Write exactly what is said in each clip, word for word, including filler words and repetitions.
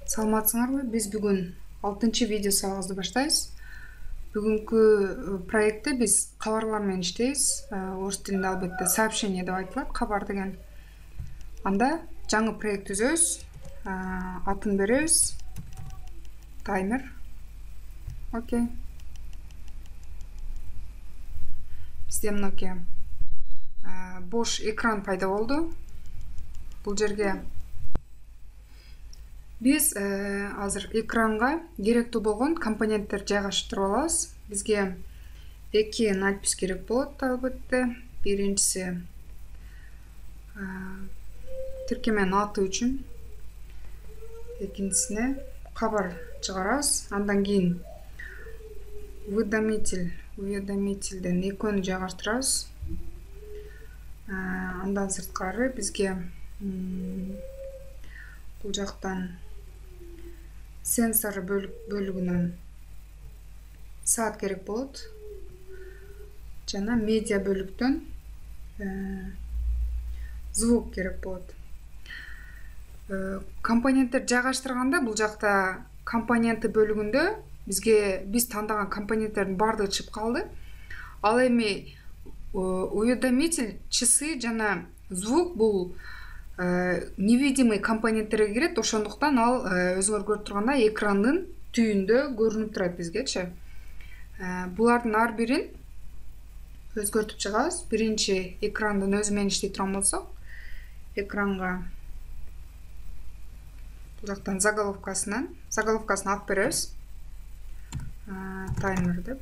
Саламатсыңарбы? Биз бүгүн алтынчы видео сабагыбызды баштайбыз. Бүгүнкү проектте биз кабарлар менен иштейбиз. Орус тилинде албетте сообщение деп айтылат, кабар деген. Анда жаңы проект түзөбүз. Атын беребиз. Таймер. Окей. Бизде мынакей бош экран пайда болду. Бул жерге биз азыр экранга керектүү болгон компоненттер жайгаштырып алабыз. Бизге эки надпись керек болот албетте. Биринчиси тиркеменин аты үчүн, экинчисине кабар чыгарабыз. Андан кийин уведомитель, уведомительден экөөнү жайгаштырабыз. Андан сырткары бизге бул жактан сенсор бөлүгүнөн саат керек болот. Жана медиа бөлүктөн звук керек болот. Компоненттер жайгаштырганда бул жакта компоненты бөлүгүндө бизге биз тандаган компоненттердин баардыгы чыгып калды. Ал эми уведомитель, часы жана звук бул невидимый компоненттерге кирет. Ошондуктан ал өзүңөр көрүп тургандай экрандын түбүндө көрүнүп турат бизгечи. Булардын ар бирин өзгөртүп чыгабыз. Биринчи экрандын өзү менен иштей турган болсок, экранга бул жактан заголовкасынан, заголовкасын алып беребиз. Таймер деп.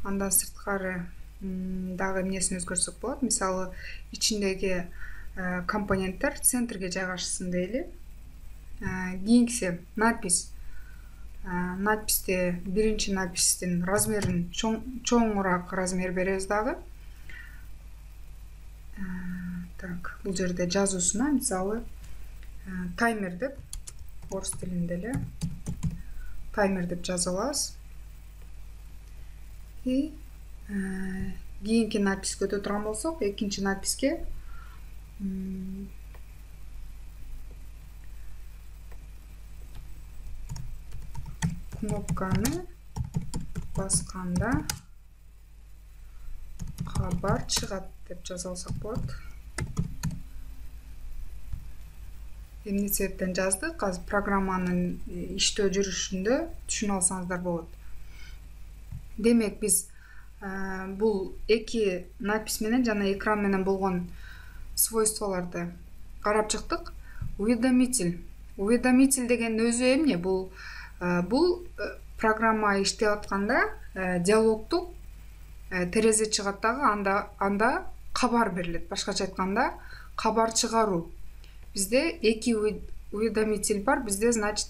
Андан сырткары дагы эмнесин өзгөртсөк болот. Мисалы, ичиндеги компоненттер центрге жайгашсын дейли. Кийинкиси надпись. Надписте биринчи надпистин размерин чоңураак размер беребиз дагы. Так, бул жерде жазуусуна мисалы таймер деп, орус тилинде эле таймер деп жазып алабыз. И кийинки надписке өтө турган болсок, экинчи надписке кнопканы басканда кабар чыгат деп жаза алсак болот. Эмне себептен жаздык? Азыр программанын иштөө жүрүшүндө түшүнүп алсаңыздар болот. Демек, биз бул эки надпись менен жана экран менен болгон свойстволорду карап чыктык. Уведомитель. Уведомитель деген өзү эмне? Бул бул программа иштеп атканда диалогдук терезе чыгат дагы, анда анда кабар берилет. Башкача айтканда, кабар чыгаруу. Бизде эки уведомитель бар. Бизде, значит,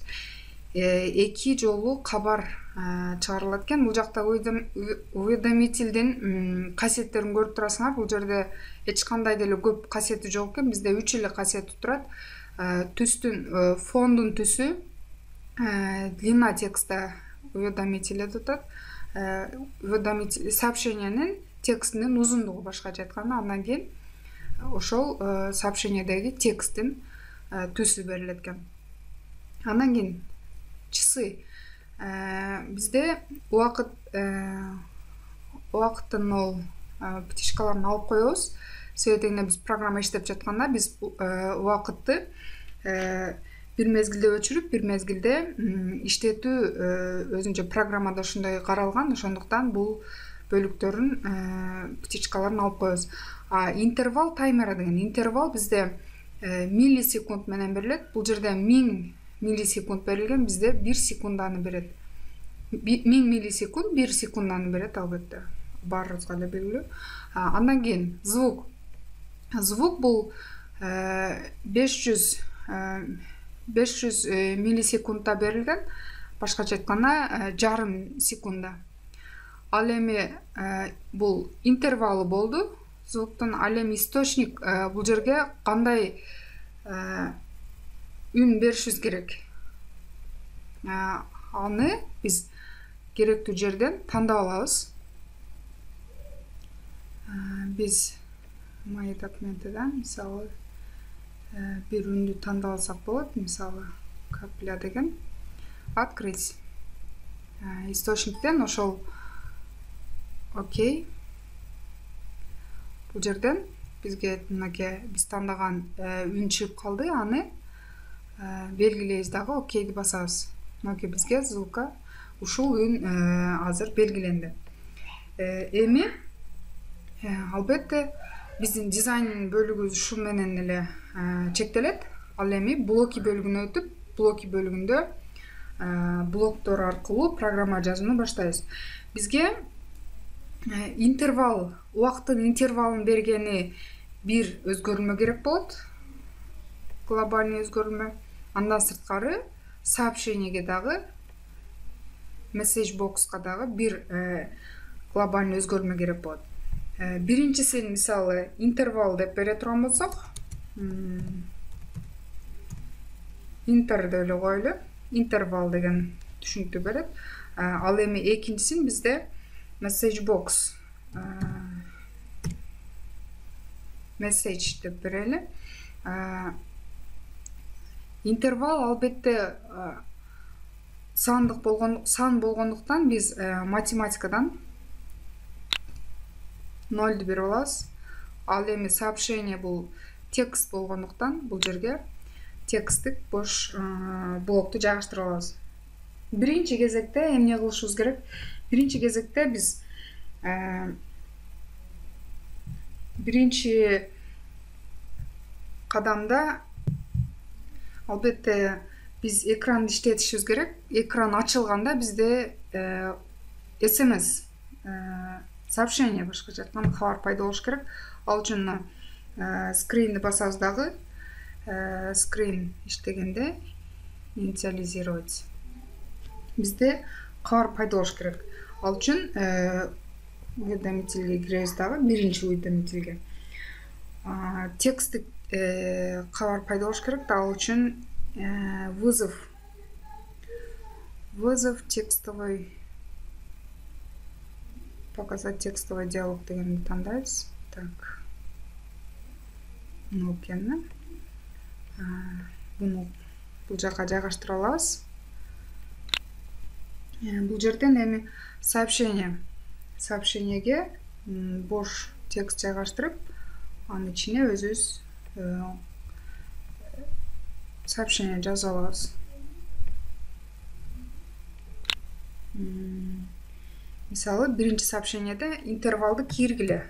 эки жолу кабар чыгарылат экен. Бул жакта уведомительдин касиеттерин көрүп турасыңар. Бул жерде эч кандай деле көп касиети жок экен. Бизде үч эле касиети турат. Түстүн, фондун түсү, длина текста уведомитель деп атат. Уведомитель сообщениянын текстинин узундугу, башкача айтканда. Андан кийин ошол сообщениядеги тексттин түсү берилет экен. Андан кийин часы. Бизде убакыт убакыттын ол птичкаларын алып коебуз. Себеби дегенде биз программа иштеп жатканда биз убакытты бир мезгилде өчүрүп, бир мезгилде иштетүү өзүнчө программада ошондой каралган. Ошондуктан бул бөлүктөрүн, птичкаларын алып коебуз. А интервал таймера деген интервал бизде миллисекунд менен берилет. Бул жерде миң миллисекунд берилген, бизде бир секунданы берет. миң миллисекунд бир секунданы берет албетте. Баарыбызга эле белгилүү. Андан кийин звук. Звук бул беш жүз миллисекундда берилген. Башкача айтканда жарым секундда. Ал эми бул интервалы болду звуктун. Ал эми источник бул жерге кандай үн беришибиз керек? Аны биз керектүү жерден тандап алабыз. Биз My Document'dan мисалы бир үндү тандап алсак болот. Мисалы капля деген открыть. Источниктен ошол окей. Бул жерден бизге мынакей биз тандаган үн чыгып калды, аны белгилейбиз дагы, окейди басабыз. Мынакей бизге ссылка ушул үн азыр белгиленди. Эми албетте биздин дизайн бөлүгүбүз ушул менен эле чектелет. Ал эми блоки бөлүгүнө өтүп, блоки бөлүгүндө блоктор аркылуу программа жазууну баштайбыз. Бизге интервал, убакыттын интервалын бергени бир өзгөрүлмө керек болот. Глобальный өзгөрүлмө. Андан сырткары сообщениеге дагы, message box'ка дагы бир глобальный өзгөрүлмө керек болот. Биринчисин мисалы интервал деп бере турган болсок, интер деп эле коелу. Интервал деген түшүнүктүү берет. Ал эми экинчисин бизде message box, message деп берели. Интервал албетте сандык болгон, сан болгондуктан биз математикадан нолду берип алабыз. Ал эми сообщение бул текст болгондуктан бул жерге тексттик бош блокту жайгаштырып алабыз. Биринчи кезекте эмне кылышыбыз керек? Биринчи кезекте биз биринчи кадамда албетте биз экранды иштетишибиз керек. Экран ачылганда бизде эс эм эс сообщение, башкача айтканда кабар пайда болуш керек. Ал үчүн скринди басабыз дагы. Скрин иштегенде инициализировать. Бизде кабар пайда болуш керек. Ал үчүн уведомительге киребиз дагы, биринчи уведомительге. Тексттик кабар пайда болуш керек. Ал үчүн вызов вызов текстовый, показать текстовый диалог дегенди тандайбыз. Так. Нокени. Буну бул жака жайгаштыра алабыз. Бул жерден эми сообщение сообщениеге бош текст жайгаштырып, анын ичине өзүбүз сообщение жазып алабыз. Мисалы, биринчи сообщениеде интервалды киргиле.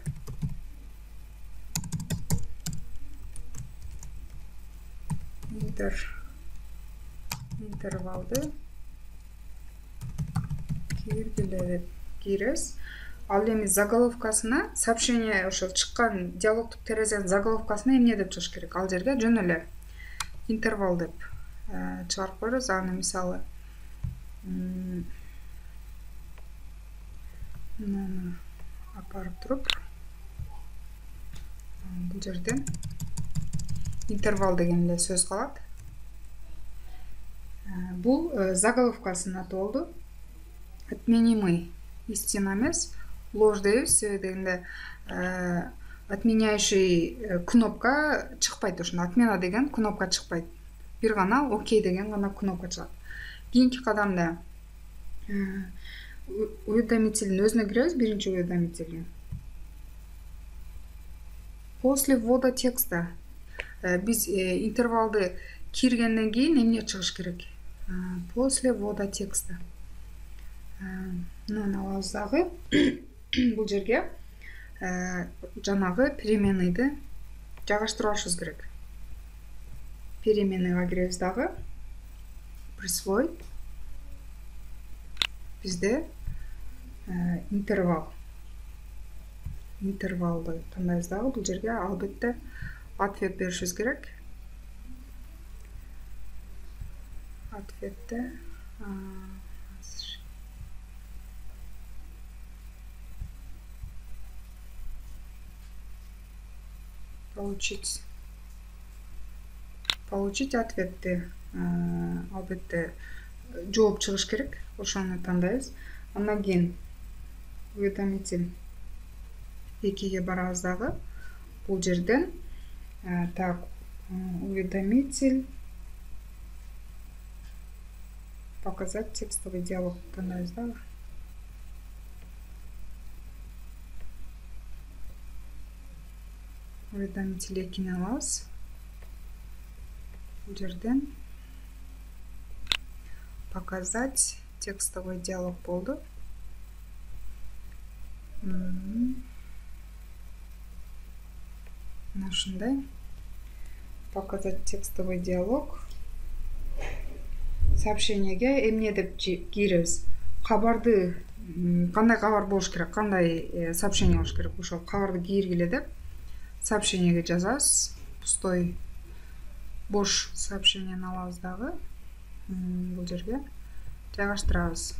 Интер интервалды киргиле деп киребиз. Ал эми заголовкасына, сообщение ошол чыккан диалогтук терезенин заголовкасына эмне деп чыгыш керек? Ал жерге жөн эле интервал деп чыгарып коебуз. Аны мисалы мына апарып туруп, бул жерден интервал деген эле сөз калат. Бул заголовкасынын аты болду. Отменимый истина эмес, ложь дейбиз. Себеби дегенде отменяющий кнопка чыкпайт. Ошондо отмена деген кнопка чыкпайт. Бир гана окей деген гана кнопка чыгат. Кийинки кадамда уведомительдин өзүнө киребиз, биринчи уведомительге. После ввода текста биз интервалды киргенден кийин эмне чыгыш керек? После ввода текста. Мына алабыз дагы. Бул жерге жанагы переменныйды жайгаштырып алышыбыз керек. Переменныйга киребиз дагы. Присвоить. Бизде интервал. Интервалды тандайбыз дагы. Бул жерге албетте ответ беришибиз керек. Ответте получить получить ответти албетте жооп чыгыш керек. Ошону тандайбыз. Андан кийин уведомитель экиге барабыз дагы. Бул жерден так уведомитель показать текстовый диалог тандайбыз да. Уведомитель экини алабыз. Бул жерден показать текстовый диалог болду. Мына ушундай показать текстовый диалог. Сообщениеге эмне деп киребиз? Кабарды, кандай кабар болуш керек, кандай сообщение болуш керек, ошол кабарды киргиле деп сообщениеге жазабыз. Пустой бош сообщениени алабыз дагы. Бул жерге жайгаштырабыз.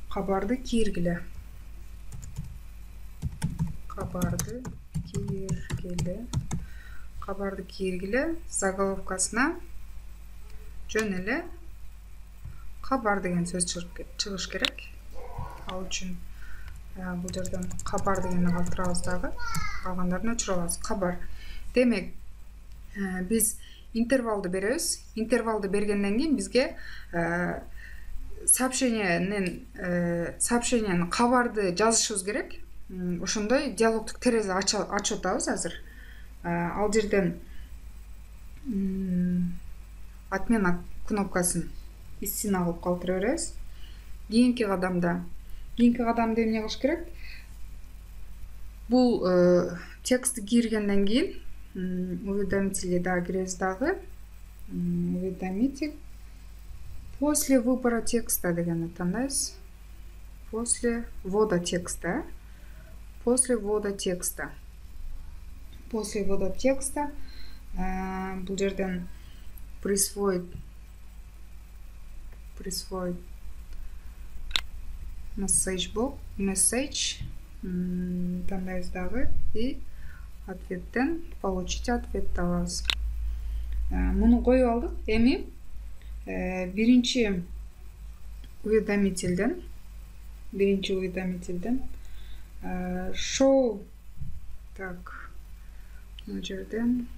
Кабарды киргиле. Кабарды киргиле. Кабарды киргиле. Заголовкасына жөн эле кабар деген сөз чыгыш керек. Ал үчүн бул жерден кабар дегенди калтырабыз дагы. Калгандарын өчүрүп алабыз. Кабар. Демек, биз интервалды беребиз. Интервалды бергенден кийин бизге сообщениенин сообщениенин кабарды жазышыбыз керек. Ошондой диалогтук терезе ачып атабыз азыр. Ал жерден отмена кнопкасын истина кылып калтыра беребиз. Кийинки кадамда, кийинки кадамда эмне кылыш керек? Бул текстти киргенден кийин уведомители дагы киребиз дагы. Уведомитель после выбора текста дегенди тандайбыз. После ввода текста. После ввода текста. После ввода текста бул жерден присвоить присвоить message box, message тандайбыз дагы и ответтен получить ответ алабыз. Муну коюп алдык. Эми биринчи уведомительден биринчи уведомительден show так мына жерден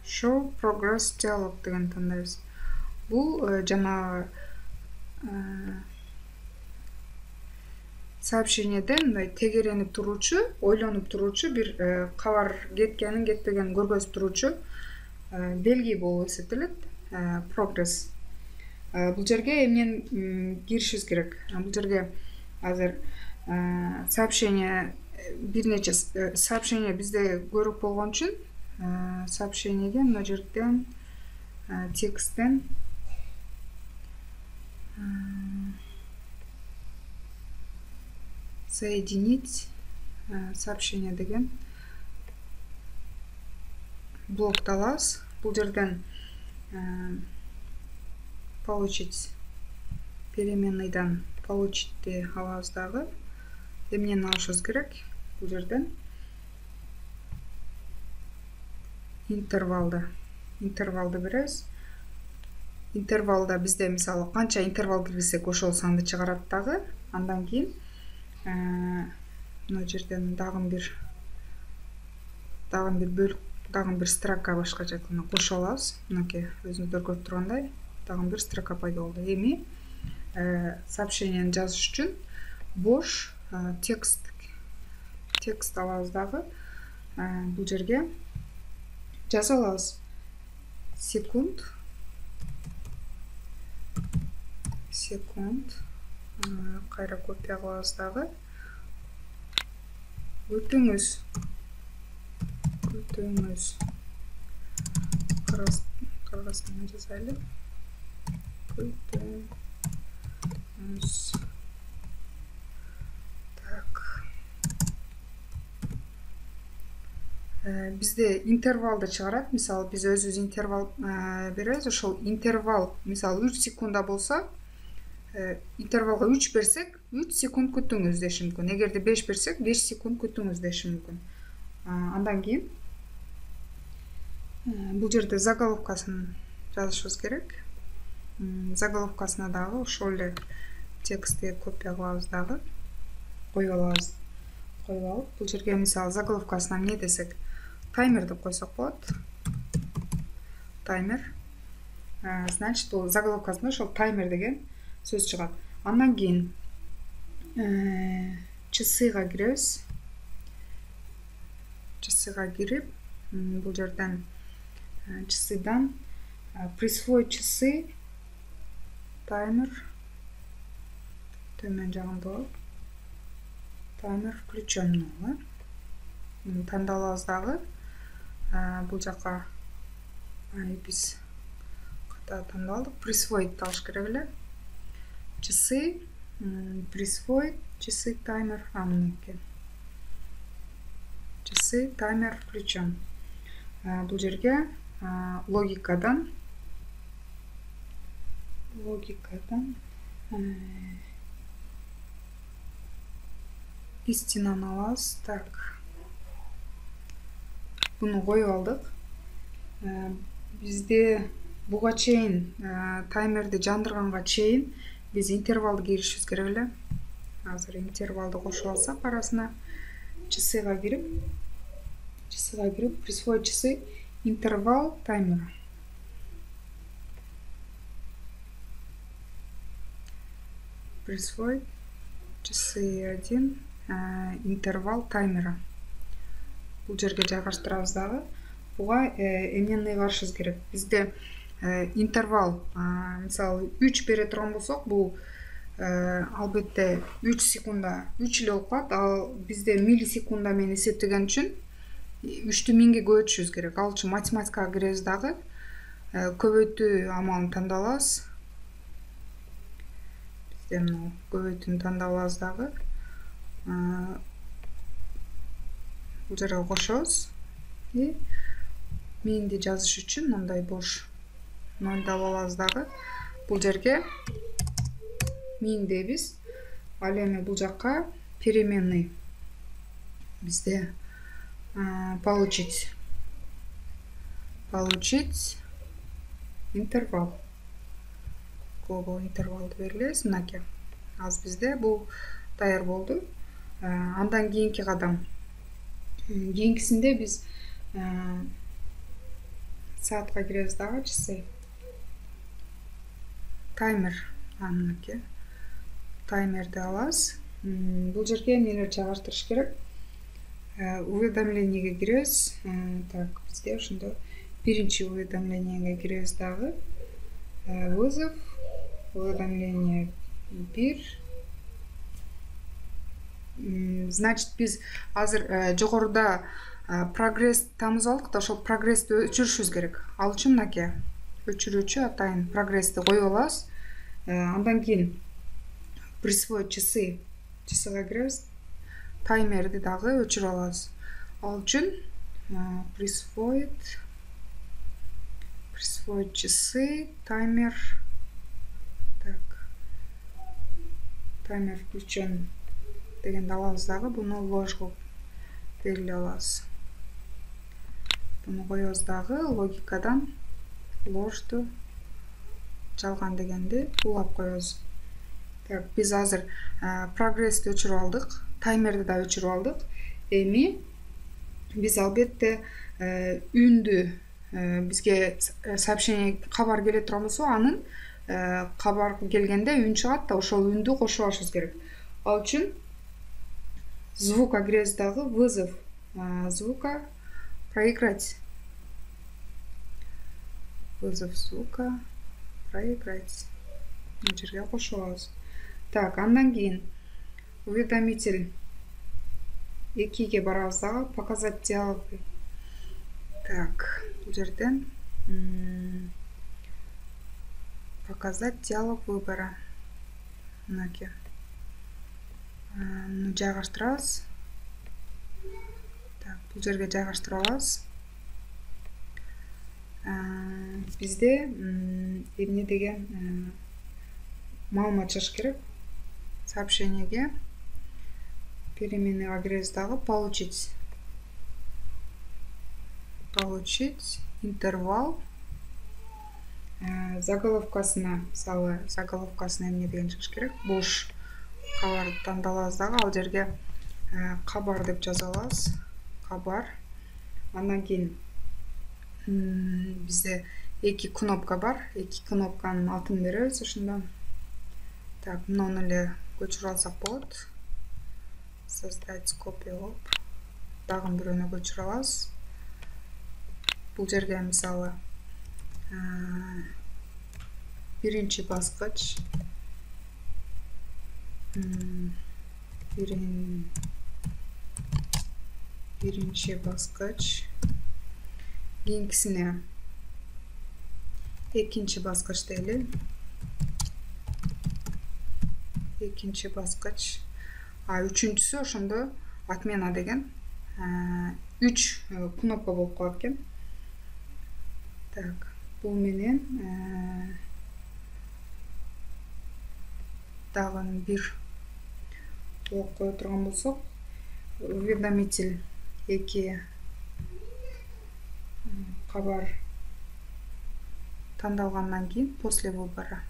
show progress dialog деген тандайбыз. Бул жана сообщениеден мындай тегеренип туруучу, ойлонуп туруучу бир кабар кеткенин, кетпегенин көргөзүп туруучу белги болуп эсептелет. Progress. Бул жерге эмнени киришибиз керек? Бул жерге азыр сообщение бир нече сообщение бизде көрүп болгон үчүн сообщениеге мына жерден тексттен соединить сообщение деген блокты алабыз. Бул жерден получить переменныйдан получитти алабыз дагы. Эмнени алышыбыз керек? Бул жерден интервалды интервалды беребиз. Интервалда бизде мисалы канча интервал киргизсек ошол санды чыгарат дагы. Андан кийин мына жерден дагы бир дагы бир бөлүк, дагы бир строка башкача айтканда кошо алабыз. Мынакей өзүңүздөр көрүп тургандай дагы бир строка пайда болду. Эми сообщениени жазыш үчүн бош текст текст алабыз дагы. Бул жерге жаза алабыз. Секунд секунд кайра копия кылабыз дагы. Күтүңүз күтүңүз кыргызча жазайлы. Күтүңүз. Так. Бизде интервалды чыгарат. Мисалы биз өзүбүз интервал беребиз. Ошол интервал мисалы үч секунда болсо, интервалга үч берсек, үч секунд күтүңүз деши мүмкүн. Эгерде беш берсек, беш секунд күтүңүз деши мүмкүн. Андан кийин бул жерде заголовкасын жазышыбыз керек. Заголовкасына дагы ошол эле текстти копия кылабыз дагы, коюп алабыз. коюп алып, бул жерге мисалы заголовкасына эмне десек, таймер деп койсок болот. Таймер. Значит, бул заголовкасында ошол таймер деген сөз чыгат. Андан кийин часыга киребиз. Часыга кирип, бул жерден часыдан присвоить часы таймер төмөн жагында болот. Таймер включен болот. Тандалабыз дагы. Бул жака биз ката тандалдык. Присвоить алыш керек эле. Часы, присвоить часы таймер амнеке. Часы таймер включен. Бул жерге логикадан логикадан истинаны алабыз. Так. Буну коюп алдык. Бизде буга чейин таймерди жандырганга чейин биз интервалды киришибиз керек эле. Азыр интервалды кошуп алсак арасына часыга кирип, часыга кирип присвоить часы интервал таймера. Присвоить часы один интервал таймера. Бул жерге жайгаштырабыз дагы. Буга эмнени ыйгарышыбыз керек? Бизде интервал, мисалы үч бере турган болсок, бул албетте үч секунда үч эле болуп калат. Ал бизде миллисекунда менен эсептеген үчүн үчтү миңге көбөйтүшүбүз керек. Ал үчүн математикага киребиз дагы. Көбөйтүү амалын тандалабыз. Бизде мына көбөйтүүнү тандалабыз дагы. Бул жерге кошобуз. И миңди жазыш үчүн мындай бош нольду алабыз дагы. Бул жерге миң дейбиз. Ал эми бул жакка переменный бизде получить получить интервал. Кого интервалды берилебиз мынакей. Азыр бизде бул даяр болду. Андан кийинки кадам. Кийинкисинде биз саатка киребиз дагы, часы. Таймер мынакей. Таймерди алабыз. Бул жерге эмнелерди жайгаштырыш керек? Уведомлениеге киребиз. Так, бизде ошондо биринчи уведомлениеге киребиз дагы. Вызов, уведомление бир. Значит, биз азыр жогоруда прогресс тамызып алдык да, ошол прогрессти өчүрүшүбүз керек. Ал үчүн мынакей өчүрүүчү атайын прогрессти коюп алабыз. Андан кийин присвоить часы, часыга киребиз. Таймерди дагы өчүрүп алабыз. Ал үчүн присвоить присвоить часы таймер. Так. Таймер включен дегенди алабыз дагы. Буну ложь кылып белгилей алабыз. Буну коебуз дагы. Логикадан ложду жалган дегенди улап коебуз. Так, биз азыр прогрессти өчүрүп алдык. Таймерди да өчүрүп алдык. Эми биз албетте үндү бизге сообщение кабар келе турган болсо, анын кабар келгенде үн чыгат да, ошол үндү кошуп алышыбыз керек. Ал үчүн звукка киребиз дагы. Вызов звука проиграть. Вызов звука проиграть. Бул жерге кошуп алабыз. Так, андан кийин уведомитель экиге барабыз дагы. Показать диалоги. Так, бул жерден показать диалог выбора. Мынакей. Муну жайгаштырабыз. Так, бул жерге жайгаштырып алабыз. Бизде эмне деген маалымат жазыш керек? Сообщениеге переменныйга киребиз дагы. Получить. Получить интервал. Заголовкасына, мисалы, заголовкасына эмне деген жазыш керек? Бош кабарды тандалабыз дагы. Ал жерге кабар деп жаза алабыз. Кабар. Андан кийин бизде эки кнопка бар. Эки кнопканын атын беребиз ошондо. Так, муну эле көчүрүп алсак болот. Создать копия болуп. Дагы бирөөнү көчүрүп алабыз. Бул жерге мисалы биринчи баскыч, бирин биринчи баскыч, кийинкисине экинчи баскыч дейли. Экинчи баскыч. А үчүнчүсү ошондо отмена деген үч кнопка болуп калат экен. Так, бул менен дагы бир блок кое турган болсок, уведомитель эки кабар тандалгандан кийин после выбора.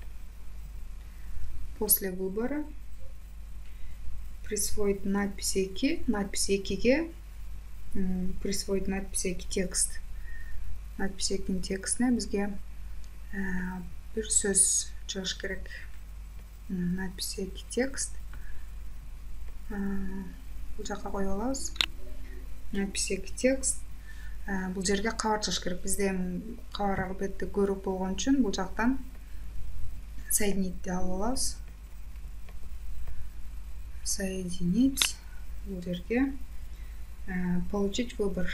После выбора присвоить надпись эки, надпись экиге присвоить надпись эки текст. Надпись экинин текстине бизге бир сөз чыгыш керек. Надпись эки текст. Бул жака коюп алабыз. Надпись эки текст. Бул жерге кабар чыгыш керек. Бизде кабар албетте көрүп болгон үчүн бул жактан соединить алып алабыз. Соединить. Бул жерге получить выбор.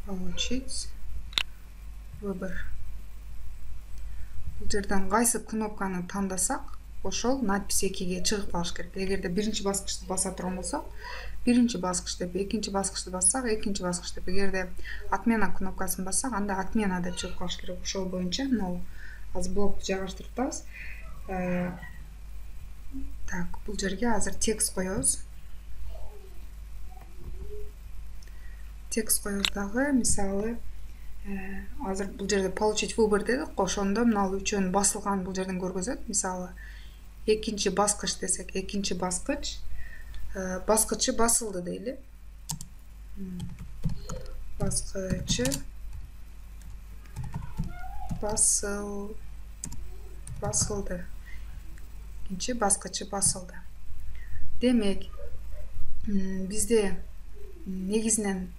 Получить выбор. Бул жерден кайсы кнопканы тандасак, ошол надпись экиге чыгып калыш керек. Эгерде биринчи баскычты баса турган болсок, биринчи баскыч деп, экинчи баскычты бассак, экинчи баскыч деп, эгерде отмена кнопкасын бассак, анда отмена деп чыгып калыш керек. Ошол боюнча могу азыр блокту жайгаштырып атабыз. Так, бул жерге азыр текст коебуз. Текст коебуз дагы, мисалы, азыр бул жерде получить выбор дедик, ошондо мына үчөөнүн басылган бул жерден көргөзөт. Мисалы, экинчи баскыч десек, экинчи баскыч, баскычы басылды дейли. Баскычы басыл басылды. Экинчи баскычы басылды. Демек, бизде негизинен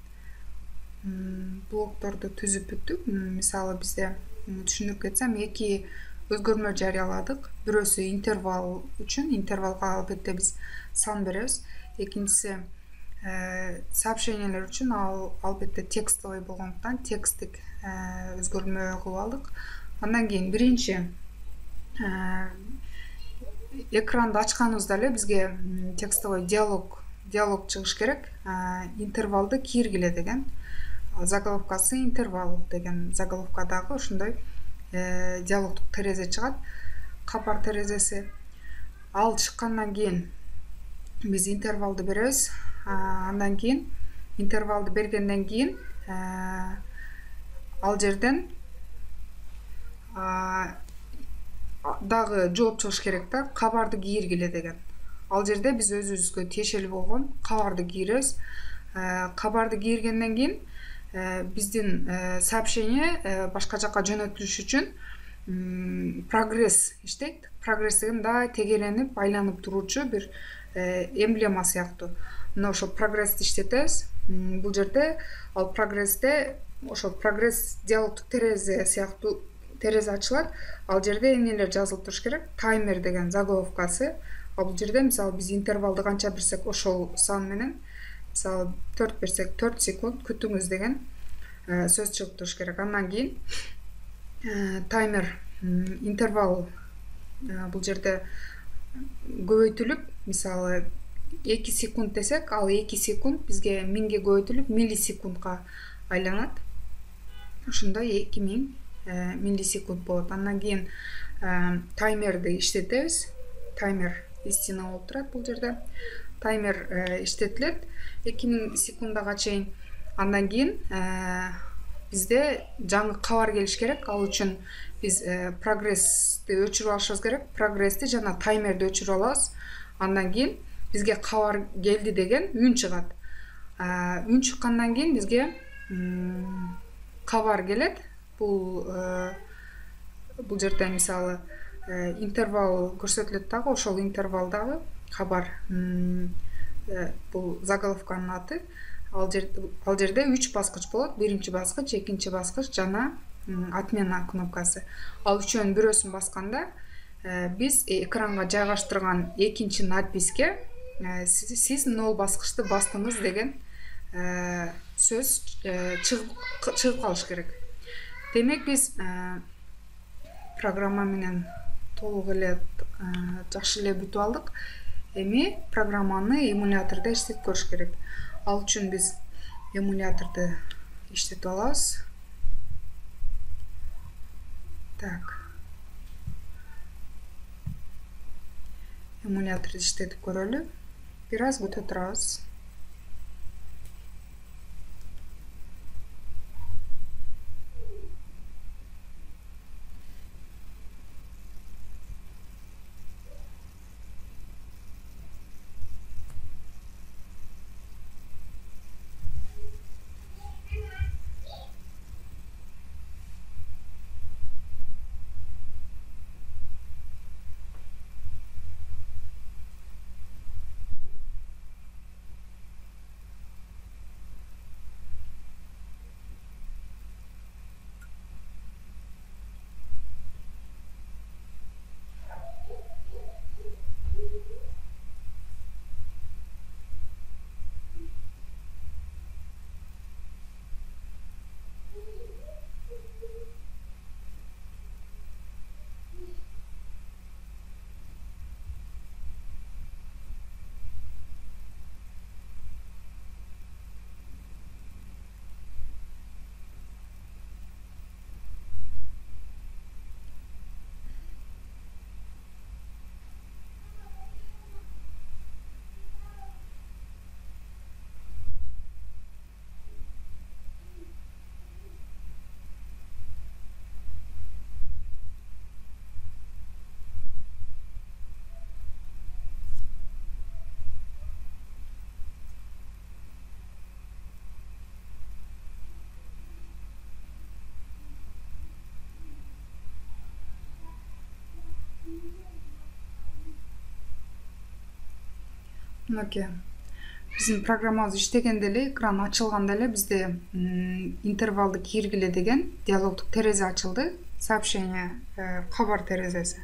блокторду түзүп бүттүк. Мисалы, бизде түшүндүрүп кетсем, эки өзгөрмө жарыяладык. Бирөөсү интервал үчүн, интервалга албетте биз сан беребиз. Экинчиси сообщениялер үчүн ал албетте текстовый болгондуктан текстик өзгөрмө кылып алдык. Андан кийин биринчи экранды ачканыбызда эле бизге текстовый диалог диалог чыгыш керек. Интервалды кийиргиле деген. Заголовкасы интервал деген заголовкадагы ошондой диалогдук терезе чыгат. Кабар терезеси. Ал чыккандан кийин биз интервалды беребиз. Андан кийин интервалды бергенден кийин ал жерден дагы жооп чыгыш керек да, кабарды кийиргиле деген. Ал жерде биз өзүбүзгө тиешелүү болгон кабарды кийиребиз. Кабарды кийиргенден кийин биздин сообщение башка жака жөнөтүлүш үчүн прогресс иштейт. Прогресс деген да тегеренип, айланып туруучу бир эмблема сыяктуу. Мына ошо прогрессти иштетебиз. Бул жерде ал прогрессте ошо прогресс диалогдук терезе сыяктуу терезе ачылат. Ал жерде эмнелер жазылып туруш керек? Таймер деген заголовкасы. А бул жерде мисалы биз интервалды канча берсек ошол сан менен, мисалы төрт берсек төрт секунд күтүңүз деген сөз чыгып туруш керек. Андан кийин таймер интервал бул жерде көбөйтүлүп, мисалы эки секунд десек, ал эки секунд бизге миңге көбөйтүлүп миллисекундка айланат. Ошондой эки миң миллисекунд болот. Андан кийин таймерди иштетебиз. Таймер истина болуп турат бул жерде. Таймер иштетилет эки миң секундага чейин. Андан кийин бизде жаңы кабар келиш керек. Ал үчүн биз прогрессти өчүрүп алышыбыз керек. Прогрессти жана таймерди өчүрүп алабыз. Андан кийин бизге кабар келди деген үн чыгат. Үн чыккандан кийин бизге кабар келет. Бул бул жерде мисалы интервал көрсөтүлөт дагы, ошол интервалдагы кабар. Бул заголовканын аты. Ал жерде үч баскыч болот. Биринчи баскыч, экинчи баскыч жана отмена кнопкасы. Ал үчөөнүн бирөөсүн басканда биз экранга жайгаштырган экинчи надписке сиз нол баскычты бастыңыз деген сөз чыгып калыш керек. Демек биз программа менен толук эле жакшы эле бүтүп алдык. Эми программаны эмулятордо иштетип көрүш керек. Ал үчүн биз эмуляторду иштетип алабыз. Так. Эмуляторду иштетип көрөлү. Бир аз күтө турабыз. Мынакей. Биздин программабыз иштегенде эле, экран ачылганда эле бизде интервалды киргиле деген диалогдук терезе ачылды. Сообщение, кабар терезеси.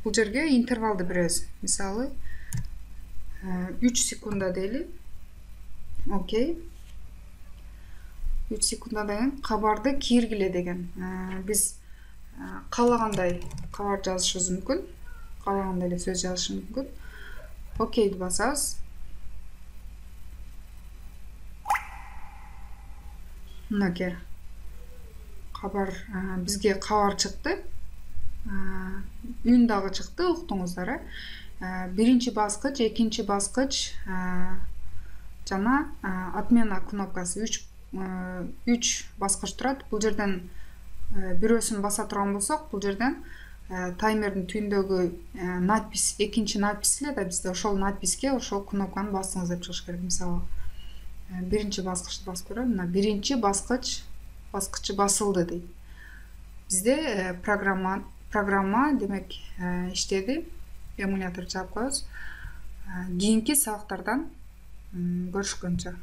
Бул жерге интервалды беребиз. Мисалы, үч секунда дейли. Окей. үч секундада кийин кабарды киргиле деген. Биз каалагандай кабар жазышыбыз мүмкүн. Каалагандай эле сөз жазышыбыз мүмкүн. Окейди басабыз. Мынакей. Кабар, бизге кабар чыкты. Үн дагы чыкты, уктуңуздар. Биринчи баскыч, экинчи баскыч жана отмена кнопкасы үч баскыч турат. Бул жерден бирөөсүн баса турган болсок, бул жерден таймердин түбүндөгү надпис, экинчи надпис эле да бизде ошол надписке ошол кнопканы басыңыз деп чыгыш керек. Мисалы, биринчи баскычты басып көрөлү. Мына биринчи баскыч баскычы басылды дейт. Бизде программа программа демек иштеди. Эмулятор жаап коебуз. Кийинки сабактардан көрүшкөнчө.